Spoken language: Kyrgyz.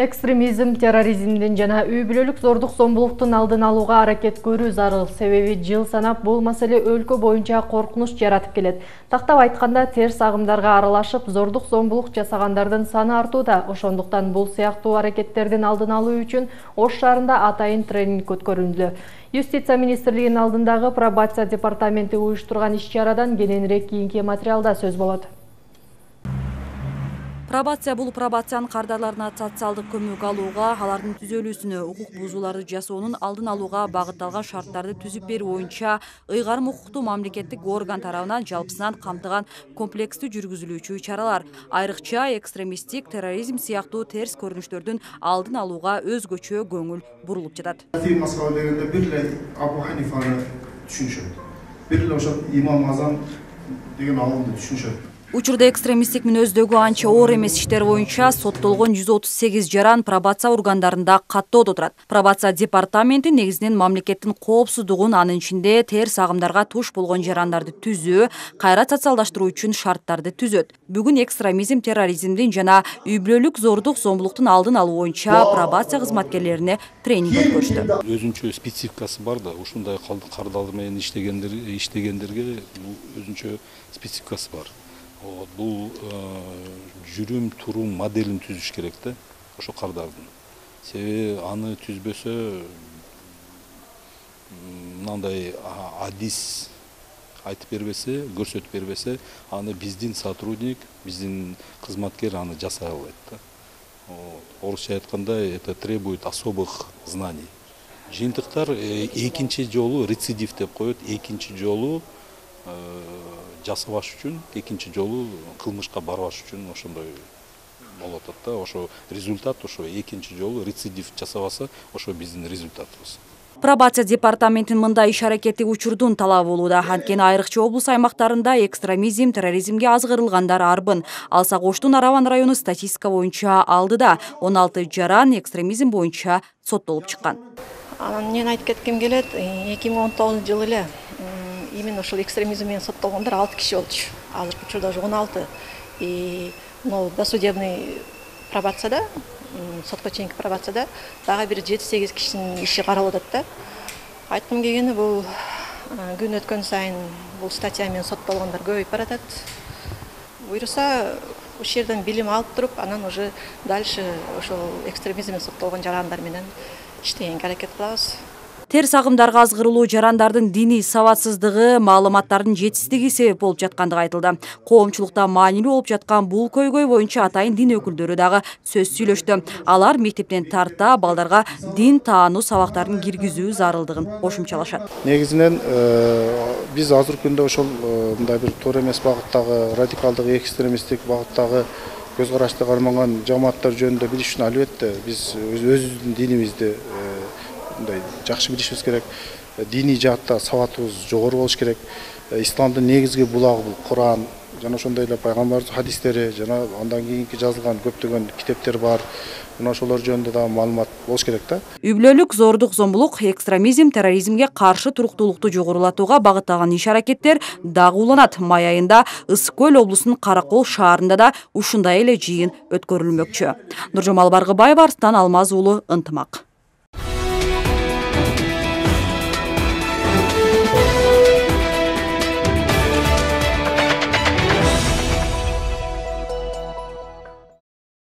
Экстремизм, терроризмдин жана үй бүлөлүк зордук зомбулуктун алдын алууга аракет көрүү зарыл. Себеби жыл санап бул маселе өлкө боюнча коркунуч жаратып келет. Тактап айтканда, терс агымдарга аралашып, зордук зомбулук жасагандардын саны артууда. Ошондуктан бул сыяктуу аракеттердин алдын алуу үчүн Ош шаарында атайын тренинг өткөрүлдү. Юстиция министрлигинин алдындагы пробация департаменти уюштурган иш-чарадан кененирээк кийинки материалда сөз болот. Пробация бул пробациянын кардарларына социалдык көмөк алууга, алардын түзөлүүсүнө, укук бузууларды жасоонун алдын алууга багытталган шарттарды түзүп берүү боюнча ыйгарым укуктуу мамлекеттик орган тарабынан жалпысынан камтыган комплекстүү жүргүзүлүүчү чаралар. Айрыкча экстремисттик, терроризм сыяктуу терс көрүнүштөрдүн алдын алууга өзгөчө көңүл бурулуп жатат. Москва дегенде бир эле Абу Ханифаны түшүнүшөт. Бир эле ошол Имам Азам деген алымды түшүнүшөт. Учурда экстремисттик мүнөздөгү анча оор эмес иштер боюнча соттолгон 138 жаран пробация органдарында каттоодо турат. Пробация департаменти негизинен мамлекеттин коопсуздугун, анын ичинде терс агымдарга туш болгон жарандарды түзөө, кайра социалдаштыруу үчүн шарттарды түзөт. Бүгүн экстремизм, терроризмдин жана үй бүлөлүк зордук зомбулуктун алдын алуу боюнча пробация кызматкерлерине тренинг өткөрүштү. Өзүнчө спецификасы бар да, ушундай кардалар менен иштегендерге өзүнчө спецификасы бар. Бул жүрүм турум моделин түзүш керек да, ошо кардардын. Себеби аны түзбөсө мындай адис айтып бербесе, көрсөтүп бербесе, аны биздин сотрудник, биздин кызматкер аны жасай албайт да. Орусча айтканда, это требует особых знаний. Жыйынтыктар экинчи жолу рецидив деп коет, экинчи жолу жасабаш үчүн, экинчи жолу кылмышка барбаш үчүн ошондой болуп атат да. Ошо результат ошо экинчи жолу рецидив жасабаса, ошо биздин результатыбыз. Пробация департаментинин мындай иш-аракети учурдун талабы болууда. Анткени айрыкча облус аймактарында экстремизм, терроризмге азгырылгандар арбын. Алсак Оштун Араван району статистика боюнча алдыда 16 жаран экстремизм боюнча соттолуп чыккан. Мен айтып кетким келет, 2019 жылы эле именно ушул экстремизм менен соттолгондор 6 киши болчу. Азыркы учурда уже 16. Досудебный пробацияда, сотко чейинки пробацияда дагы бир 7-8 кишинин иши каралып атат да. Айткым келгени, бул күн өткөн сайын бул статья менен соттолгондор көбөйүп баратат. Буюрса, ушул жерден билим алып туруп, анан уже дальше ошол экстремизм менен соттолгон жарандар менен иштегенге аракет кылабыз. Терс агымдарга азгырылуу жарандардын диний сабатсыздыгы, маалыматтардын жетишсиздиги себеп болуп жаткандыгы айтылды. Коомчулукта маанилүү болуп жаткан бул көйгөй боюнча атайын дин өкүлдөрү дагы сөз сүйлөштү. Алар мектептен тарта балдарга дин таануу сабактарын киргизүү зарылдыгын кошумчалашат. Негизинен биз азыркы күндө ошол мындай бир туура эмес багыттагы, радикалдык экстремисттик багыттагы көз карашты карманган жамааттар жөнүндө билиш үчүн албетте биз өзүбүздүн динибизди мындай жакшы билишибиз керек. Диний жаатта сабатыбыз жогору болуш керек. Исламдын негизги булагы бул Куран, жана ошондой эле пайгамбардын хадистери, жана андан кийинки жазылган көптөгөн китептер бар. Мына ошолор жөнүндө дагы маалымат болуш керек да. Үй бүлөлүк зордук зомбулук, экстремизм, терроризмге каршы туруктуулукту жогорулатууга багытталган иш-аракеттер дагы уланат. Май айында Ысык Көл облусунун Каракол шаарында да ушундай эле жыйын өткөрүлмөкчү. Нуржамал Баргыбаева, Арстан Алмаз уулу, Ынтымак.